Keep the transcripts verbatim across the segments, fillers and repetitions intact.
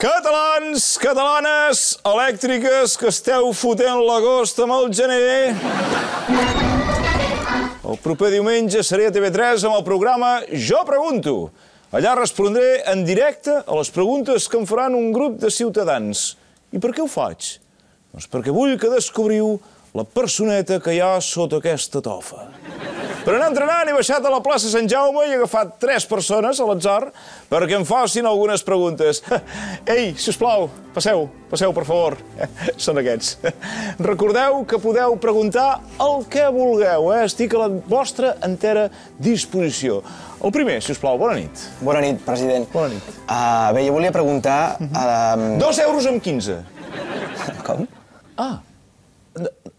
Catalans, catalanes, elèctriques, que esteu fotent l'agost amb el gener. El proper diumenge seré a T V tres amb el programa Jo Pregunto. Allà respondré en directe a les preguntes que em faran un grup de ciutadans. I per què ho faig? Doncs perquè vull que descobriu la personeta que hi ha sota aquesta tofa. Per anar entrenant he baixat a la plaça Sant Jaume i he agafat tres persones a l'atzar perquè em facin algunes preguntes. Ei, sisplau, passeu, passeu, per favor. Són aquests. Recordeu que podeu preguntar el que vulgueu, eh? Estic a la vostra entera disposició. El primer, sisplau, bona nit. Bona nit, president. Bona nit. Uh, bé, jo volia preguntar... Uh... Dos euros amb quinze. Com? Ah,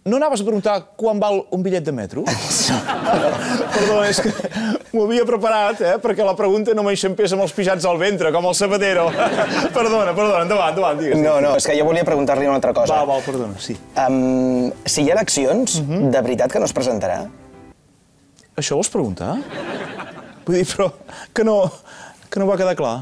no anaves a preguntar quan val un bitllet de metro? Perdona, és que m'ho havia preparat, eh? Perquè la pregunta no m'enxampés amb els pixats al ventre, com el Zapatero. Perdona, perdona, endavant, endavant, digues. No, no, és que jo volia preguntar-li una altra cosa. Va, va, perdona, sí. Um, si hi ha eleccions, uh-huh. de veritat que no es presentarà? Això vols preguntar? Vull dir, però que no, que no va quedar clar.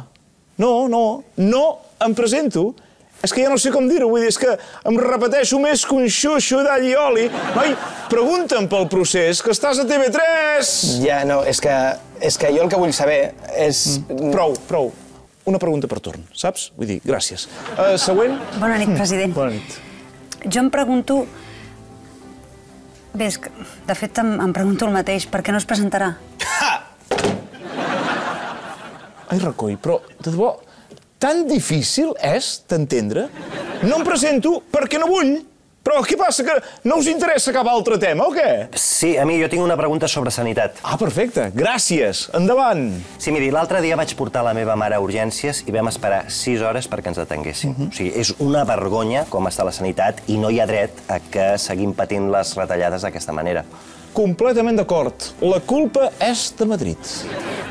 No, no, no em presento. És que ja no sé com dir-ho, vull dir, és que em repeteixo més que un xuxo d'all i oli. Noi, pregunta'm pel procés, que estàs a T V tres! Ja, no, és que, és que jo el que vull saber és... Mm. Prou, prou. Una pregunta per torn, saps? Vull dir, gràcies. Uh, següent? Bona nit, president. Bona nit. Jo em pregunto... Bé, és que, de fet, em, em pregunto el mateix. Per què no es presentarà? Ha! Ai, Recoi, però, de debò, tan difícil és d'entendre? No em presento perquè no vull. Però què passa, que no us interessa cap altre tema, o què? Sí, a mi jo tinc una pregunta sobre sanitat. Ah, perfecte. Gràcies. Endavant. Sí, miri, l'altre dia vaig portar la meva mare a urgències i vam esperar sis hores perquè ens atenguessin. Uh-huh. O sigui, és una vergonya com està la sanitat i no hi ha dret a que seguim patint les retallades d'aquesta manera. Completament d'acord. La culpa és de Madrid.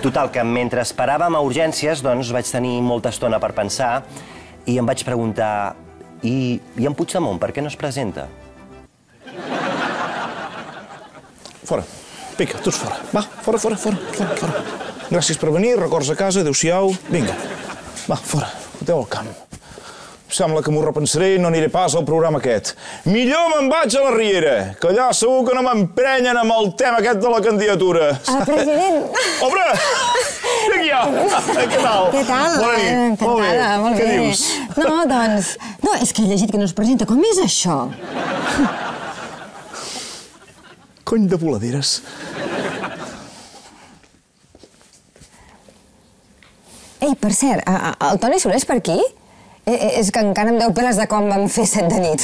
Total, que mentre esperàvem a urgències, doncs vaig tenir molta estona per pensar i em vaig preguntar... I, i en Puigdemont, per què no es presenta? Fora. Vinga, tots fora. Va, fora, fora, fora, fora, fora. Gràcies per venir, records a casa, adéu-siau. Vinga. Va, fora. Foteu al camp. Sembla que m'ho repensaré i no aniré pas al programa aquest. Millor me'n vaig a la Riera, que allà segur que no m'emprenyen amb el tema aquest de la candidatura. Ah, president! Obre! Vinga ja! Què tal? Què tal? Bona nit. Encantada, Molt bé. molt bé. Què dius? No, doncs... No, és que he llegit que no es presenta. Com és això? Cony de voladeres. Ei, per cert, el Toni Soler és per aquí? És que encara em deu peles de quan vam fer set de nit.